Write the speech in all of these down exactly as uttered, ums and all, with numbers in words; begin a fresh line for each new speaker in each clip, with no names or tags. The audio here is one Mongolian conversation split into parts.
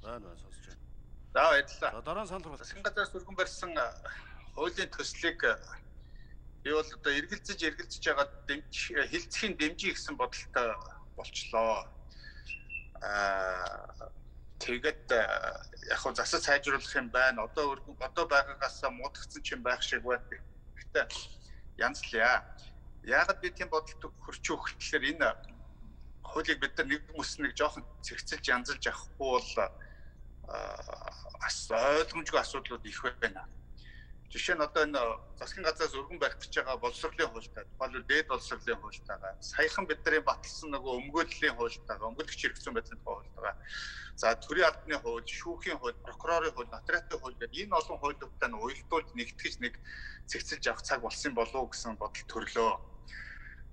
Байна байна сонсож байна.
За баярлалаа.
За дараа нь санал хурлаа.
Засгийн газраас өргөн барьсан хуулийн төслийг би бол одоо эргэлзэж эргэлзэж байгаа хилцхийн дэмжих гэсэн бодолтой болчлоо. Аа тэгээд яг хөө засаж сайжруулах юм байна. Одоо одоо байгаагаас муудагцсан ч юм байх шиг байна. Гэхдээ янзлаа. Яагаад би тийм бодолд хүрч өгөх гэхээр энэ хуулийг бид нар нэг бүс нэг жоохон цэгцэлж янзалж авахгүй бол ас ойлгомжгүй асуудлууд их байна. Жишээ нь одоо энэ засгийн газраас өргөн барих гэж байгаа боловсролын хуультай, тухайлбал дээд боловсролын хуультайгаа, саяхан бидний баталсан нөгөө өмгөөллийн хуультайгаа, өмгөөлөгч хэрэгцээ байдлын хуультайгаа, за төрийн албаны хууль, шүүхийн хууль, прокурорын хууль, нотариатын хууль гэдэг энэ олон хуулиудтай нь уялдуулж нэгтгэж нэг цэгцэлж авах цаг болсон болов уу гэсэн бодол төрлөө.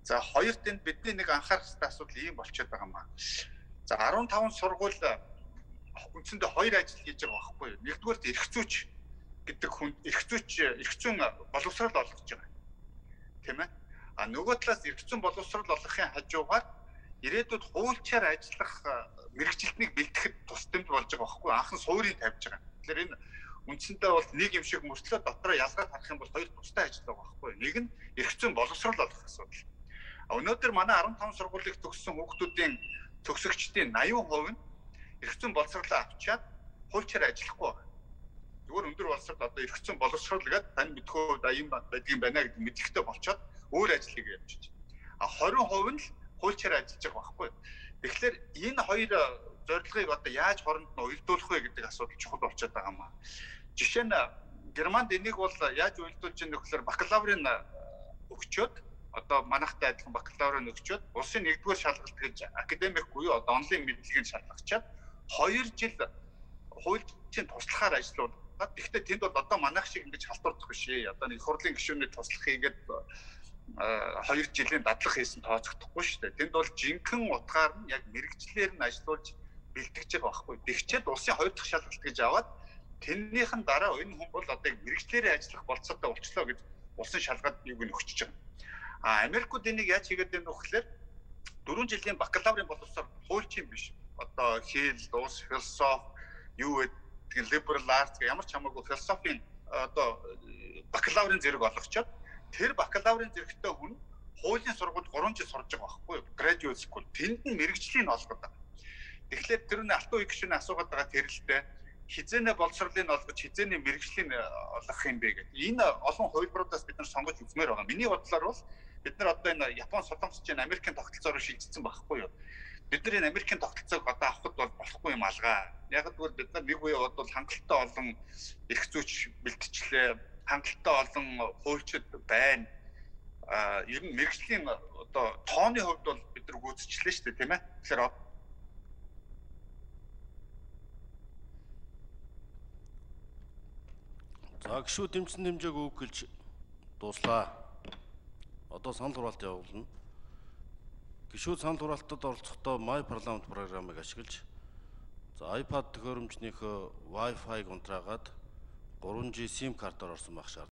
За хоёрт энд бидний нэг анхаарах хэрэгтэй асуудал ийм болчиход байгаа юм аа. За арван таван сургууль үндсэндээ хоёр ажил хийж байгаа байхгүй юу? Нэгдүгээрт эрх зүйч гэдэг хүн эрх зүйч эрх зүйн боловсрол олгож байгаа. Тийм ээ? А нөгөө талаас эрх зүйн боловсрол олгохын хажуугаар ирээдүйд хуульчаар ажиллах мэрэгчлэлтнийг бэлтгэхэд тус тэмд болж байгаа байхгүй юу? Анхан суурийг тавьж байгаа. Тэгэхээр энэ үндсэндээ бол нэг юм шиг мөртлөө дотроо ялгаад харах юм бол хоёр тустай ажил байгаа байхгүй юу? Нэг нь эрх зүйн боловсрол олгох асуудал. Өнөөдөр манай арван таван сургуулийг төгссөн хүүхдүүдийн төгсөгчдийн восемь хувь нь эрх зүйн боловсролоо авчиад хуульчаар ажиллахгүй байна. Зүгээр өндөр боловсрол одоо эрх зүйн боловсрол гэдэг тань мэдхүү ийм байдгийн байна гэдэг мэдлэгтэй болчоод өөр ажлыг явж байна. А двадцать хувь нь л хуульчаар ажиллаж байгаа байхгүй. Тэгэхээр энэ хоёр зорилгыг одоо яаж хооронд нь уялдуулах вэ гэдэг асуудал чухал болчиход байгаа юм аа. Жишээ нь Германд энийг бол яаж уялдуулж байгаа нөхлөөр бакалаврын өгчөөд одоо манайхтай адилхан бакалаврын өгчөөд улсын нэгдүгээр шалгалт гэж академик буюу одоо онлайн мэдлэгийг шалгачаад хоёр жил хуулийн туслахаар ажиллаад. Гэхдээ тэнд бол одоо манайх шиг ингэж халтурдах биш ээ. Одоо нэг хурлын гишүүний туслах хийгээд хоёр жилийн дадлага хийсэн тооцогдохгүй шүү дээ. Тэнд бол жинхэнэ утгаар нь яг мэрэгчлэр нь ажиллуулж бэлтгэж байгаа байхгүй. Тэгчээд улсын хоёр дахь шалгалт гэж аваад тэрнийхэн дараа энэ хүн бол одоо мэрэгчлэрээ ажиллах болцоотой болчлоо гэж улсын шалгалт юуг нь өгчөж байгаа. А Америкууд энийг яаж хийгээд байна вэ гэхээр дөрвөн жилийн бакалаврын боловсрол хуульчин биш. Одоо хэл, улс, философи, юу гэдэг liberal arts гэх ямар ч хамаагүй философийн одоо бакалаврын зэрэг олгочоод тэр бакалаврын зэрэгтэй хүн хуулийн сургуульд гурван жил сурж байгаа байхгүй юу? Graduate school. Тэнд нь мэрэгжлийн олгоод байгаа. Тэгэхээр тэр нь алтан үе гишүүний асуугаад байгаа тэрэлтэй хизээнэ боловсролыг олгож хизээнэ мэрэгжлийн олгох юм бэ гэдэг. Энэ олон хувилбаруудаас бид нар сонгож үзмээр байгаа. Миний бодлоор бол бид нар одоо энэ Япон солонгосчийн Америкийн тогтолцоороо шилжсэн байхгүй юу? Бид нар энэ Америкийн тогтолцоог одоо авахд бол болохгүй юм алгаа. Яг гэвэл бид нар нэг үе бодвол хангалттай олон эрх зүйч бэлтгэлээ, хангалттай олон хуульчид байна. А ер нь мэрэгжлийн одоо тооны хувьд бол бид нар гүйцэтгэлээ шүү дээ, тийм ээ. Тэгэхээр
за гişүү дэмжсэн дэмжээг үг гэлж дуслаа. Одоо санал хураалт явуулна. Гишүүд санал хураалтад оролцохдоо My Parliament программыг ашиглаж за iPad төхөөрөмжнийхөө Wi-Fi-г унтраагаад три G SIM картаар орсон байх шаардлага